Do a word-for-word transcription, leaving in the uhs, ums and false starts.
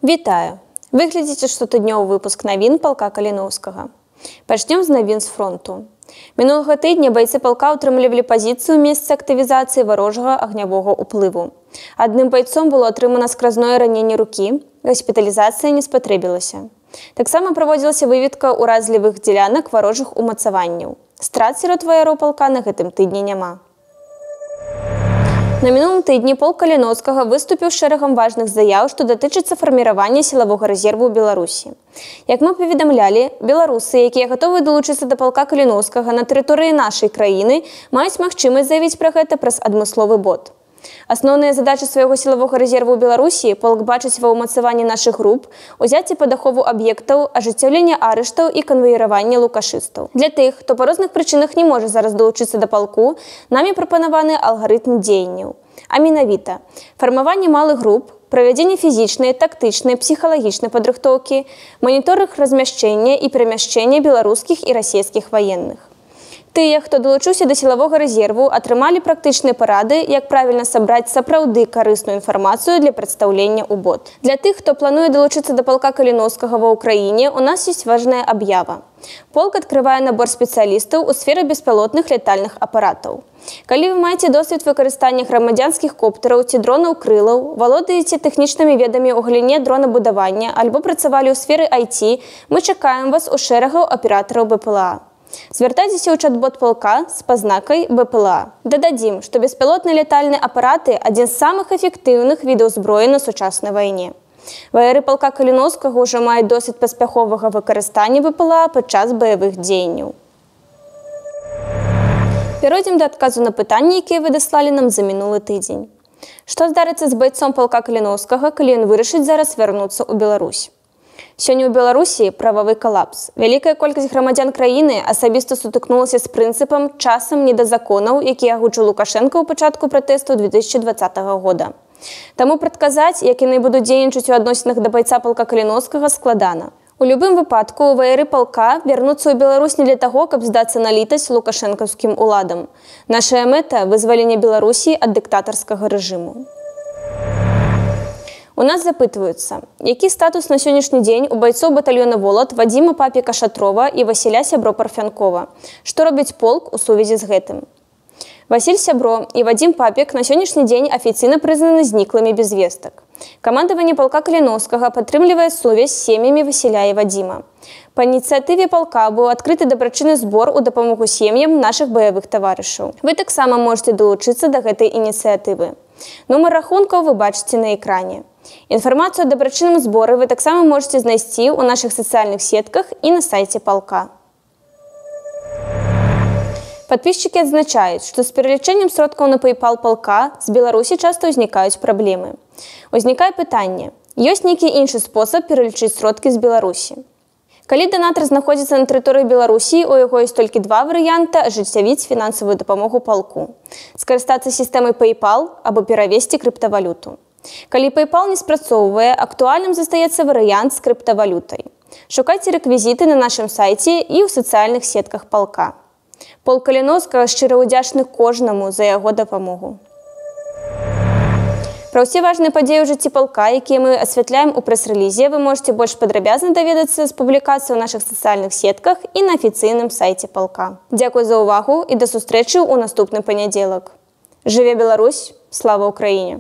Вітаю! Ви глядзіце штотыднёвы выпуск навін палка Каліноўскага. Пачнём з навін з фронту. Мінулага тыдня байцы палка ўтрымлівалі пазіцыю ў месцы актывізацыі варожага агнявога ўплыву. Адным байцом было атрымана скразное раненне рукі, госпіталізацыя не спатрэбілася. Таксама праводзілася выведка ўразлівых дзелянак варожых умацаванняў. Страт сярод ваяроў палка на гэтым тыдні няма. На мінулым тыдні полк Каліноўскага выступіў з шэрагам важных заяў, што датычыцца фарміравання сілавога рэзерву ў Беларусі. Як мы паведамлялі, беларусы, якія гатовы далучыцца да палка Каліноўскага на тэрыторыі нашай краіны, маюць магчымасць заявіць пра гэта праз адмысловы бот. Асноўныя задачы свайго сілавога рэзерву ў Беларусі полк бачыць ва ўмацаванні нашых груп, узяцці пад ахову аб'ектаў, ажыццяўлення арыштаў і канваіравання лукашыстаў. Для тых, хто па розных прычынах не можа зараз далучыцца да палку, намі прапанаваны алгарытм дзеянняў. А менавіта фармаванне малых груп, правядзенне фізічнай, тактычнай, псіхалагічнай падрыхтоўкі, маніторынг размяшчэння і перамяшчэння беларускіх і расійскіх ваенных. Тыя, хто далучыўся да сілавога рэзерву, атрымалі практычныя парады, як правільна сабраць сапраўды карысную інфармацыю для прадстаўлення ў бот. Для тых, хто плануе далучыцца да палка Каліноўскага ва ўкраіне, у нас ёсць важная аб'ява. Полк адкрывае набор спецыялістаў у сферы беспілотных летальных апаратаў. Калі вы маеце досвед выкарыстання грамадзянскіх коптараў ці дронаў-крылаў, валодаеце тэхнічнымі ведамі ў галіне дронабудавання альбо працавалі ў сферы ай ти, мы чакаем вас у шэрагаў аператараў бэ пэ эл а. Звяртайцеся ў чат-бот палка з пазнакай бэ пэ эл а. Дададзім, што беспілотныя летальныя апараты – адзін з самых эфектыўных відаў зброі на сучаснай вайне. Ваяры палка Каліноўскага ўжо маюць досвед паспяховага выкарыстання бэ пэ эл а падчас баявых дзеянняў. Перайдзем да адказу на пытанні, якія вы даслалі нам за мінулы тыдзень. Што здарыцца з байцом палка Каліноўскага, калі ён вырашыць зараз вярнуцца ў Беларусь? Сёння ў Беларусі прававы калапс. Вялікая колькасць грамадзян краіны асабіста сутыкнулася з прынцыпам часам не да законаў, які агучыў Лукашенка ў пачатку пратэсту две тысячы дваццатага года. Таму прадказаць, як яны будуць дзейнічаць у адносінах да байца палка Каліноўскага, складана. У любым выпадку ваяры палка вярнуцца ў Беларусь не для таго, каб здацца на літасць лукашэнкаўскім уладам. Нашая мэта – вызвалення Беларусі ад дыктатарскага рэжыму. У нас запытваюцца, які статус на сённяшні дзень у байцоў батальёна «Волат» Вадзіма Папіка Шатрова і Васіля Сябро Парфянкова. Што робіць полк у сувязі з гэтым? Васіль Сябро і Вадзім Папік на сённяшні дзень афіцыйна прызнаны зніклымі без вестак. Камандаванне палка Каліноўскага падтрымлівае сувязь з сем'ямі Васіля і Вадзіма. Па ініцыятыве палка быў адкрыты дабрачынны збор у дапамогу сем'ям нашых баявых таварышаў. Вы таксама можете далучыцца да гэтай ініцыятывы. Нумар рахункаў вы бачыце на экране. Інфармацыю о дабрачынным зборы вы таксама можете знайсці ў нашых сацыяльных сетках і на сайце палка. Падпісчыкі адзначаюць, што з пералічэннем сродкаў на PayPal палка з Беларусі часта ўзнікаюць праблемы. Узнікае пытанне, ёсць нейкі іншы спосаб пералічыць сродкі з Беларусі? Калі данатар знаходзіцца на тэрыторыі Беларусі, у яго ёсць толькі два варыянта ажыццявіць фінансавую дапамогу палку. Скарыстацца сістэмай PayPal або перавесці крыптавалюту. Калі PayPal не спрацоўвае, актуальным застаецца варыянт з крыптавалютай. Шукайце рэквізіты на нашым сайце і ў сацыяльных сетках палка. Полк Каліноўскага шчыра ўдзячны кожнаму за яго дапамогу. Пра ўсе важныя падзеі ў жыцці палка, якія мы асвятляем у прэс-рэлізе, вы можете больш падрабязна даведацца з публікацыі ў нашых сацыяльных сетках і на афіцыйным сайце палка. Дзякуй за ўвагу і да сустрэчы ў наступны панядзелак. Жыве Беларусь! Слава Ўкраіне!